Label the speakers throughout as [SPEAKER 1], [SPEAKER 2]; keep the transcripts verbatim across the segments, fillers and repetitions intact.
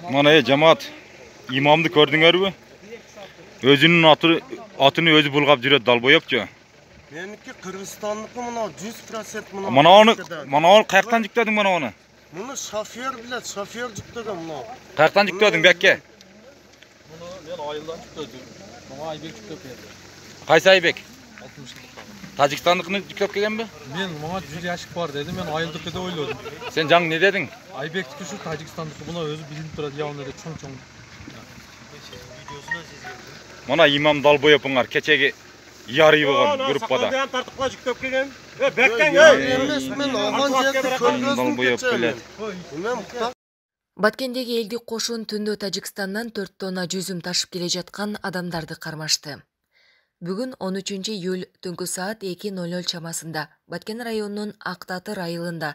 [SPEAKER 1] Mana e жамаат имамды көрдүңөрбү? Өзүнүн атыны өзү булгап жүрөт далбоёпчу.
[SPEAKER 2] Меники Кыргызстандыкы мына жүз процент мына.
[SPEAKER 1] Мана аны, мана аны каяктан жүктөдүң мана аны?
[SPEAKER 2] Муну шофер билет, шофер жүктөгөн мына.
[SPEAKER 1] Каяктан жүктөдүң бекке?
[SPEAKER 3] Муну мен айылдан жүктөдүм. Мага Айбек жүктөп берди.
[SPEAKER 1] Кайсы Айбек?
[SPEAKER 3] алтымыш жылдыктагы.
[SPEAKER 1] Тажикстандыкыны жүктөп келгенби?
[SPEAKER 3] Мен мага жүз яшык бар деди, мен айылдыкы деп ойлодум.
[SPEAKER 1] Сен жаң не дедиң?
[SPEAKER 3] Айбектики ушу Тажикстандыкы, буна өзү билинип турат, явында да чоң-чоң.
[SPEAKER 1] Мана имам далбоёпуңар кечеги ярый болгон группада.
[SPEAKER 4] Сакалдан тартыкла жүктөп келген. Э, бектен эй.
[SPEAKER 2] Эмес мен огон жерде көргөздүм. Мен
[SPEAKER 5] Баткендеги элдик кошун түндө Тажикстандан төрт тонна жүзүм ташып келе жаткан адамдарды кармашты. Бүгүн он үчүнчү июль түнкү саат эки ноль ноль чамасында Баткен районунун Актатыр айылында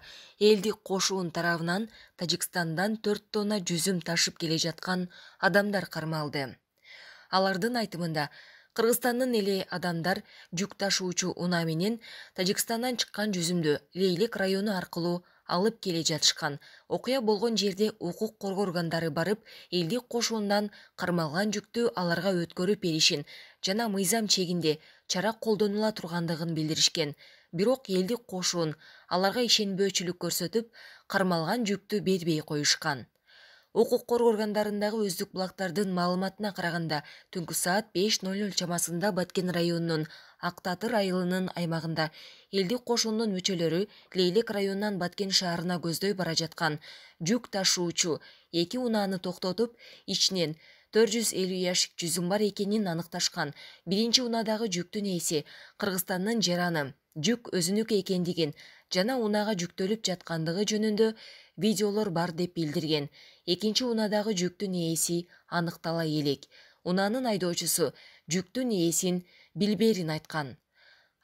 [SPEAKER 5] элдик кошуун тарабынан Тажикстандан төрт тонна жүзүм ташып келе жаткан адамдар кармалды. Алардын айтымында Кыргызстандын эле адамдар жүк ташуучу унаа менен Тажикстандан чыккан жүзүмдү Лейлек району аркылуу алып келе жатышкан. Окуя болгон жерде укук коргоо органдары барып, элдик кошуундан кармалган жүктү аларга өткөрүп беришин жана мыйзам чегинде чара колдонула тургандыгын билдиришкен. Бирок элдик кошуун аларга ишенбөөчүлүк көрсөтүп, кармалган жүктү бербей коюшкан. Укук коргоо органдарындагы өздүк булактардын маалыматына караганда, түнкү саат беш ноль ноль чамасында Баткен районунун Актатыр айылынын аймагында элдик кошуунун мүчөлөрү Лейлек районунан Баткен шаарына көздөй бара жаткан жүк ташуучу эки унааны токтотуп, ичинен төрт жүз элүү яшик жүзүм бар экенин аныкташкан. Биринчи унаадагы жүктүн ээси Кыргызстандын жараны, жүк өзүнүкү экендигин жана унаага жүктөлүп жаткандыгы жөнүндө видеолор бар деп билдирген. Экинчи унаадагы жүктүн ээси аныктала элек. Унаанын айдоочусу жүктүн ээсин билбээрин айткан.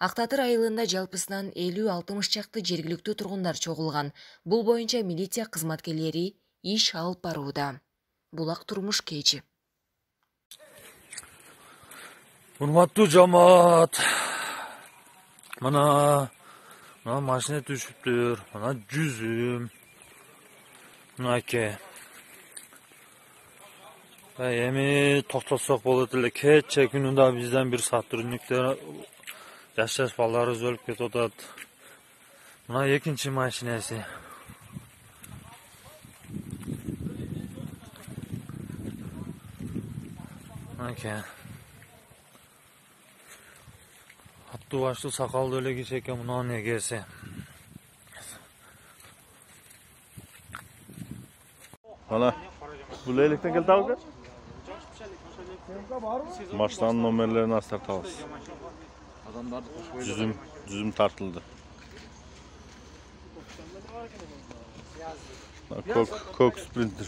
[SPEAKER 5] Актатыр айылында жалпысынан элүү алтымыш чакты жергиликтүү тургундар чогулган. Бул боюнча милиция кызматкерлери иш алып барууда. Булак турмуш кечи.
[SPEAKER 6] Урматтуу жамаат. Мана мына машина түшүптүр. Мана жүзүм. Мынаке. Эми токтотсок болот эле. Кече күнүндө бизден бир сотрудниктер жаш-жаш балдарыбыз өлүп кетип атат. Мына экинчи машинеси. Мынаке. Аттуу баштуу сакалдуу эле киши экен мунун эгеси.
[SPEAKER 7] Ана, бул электен келди абы? Машинанын номерлерин астартабыз. Жүзүм, жүзүм тартылды. Кок, кок спринтер.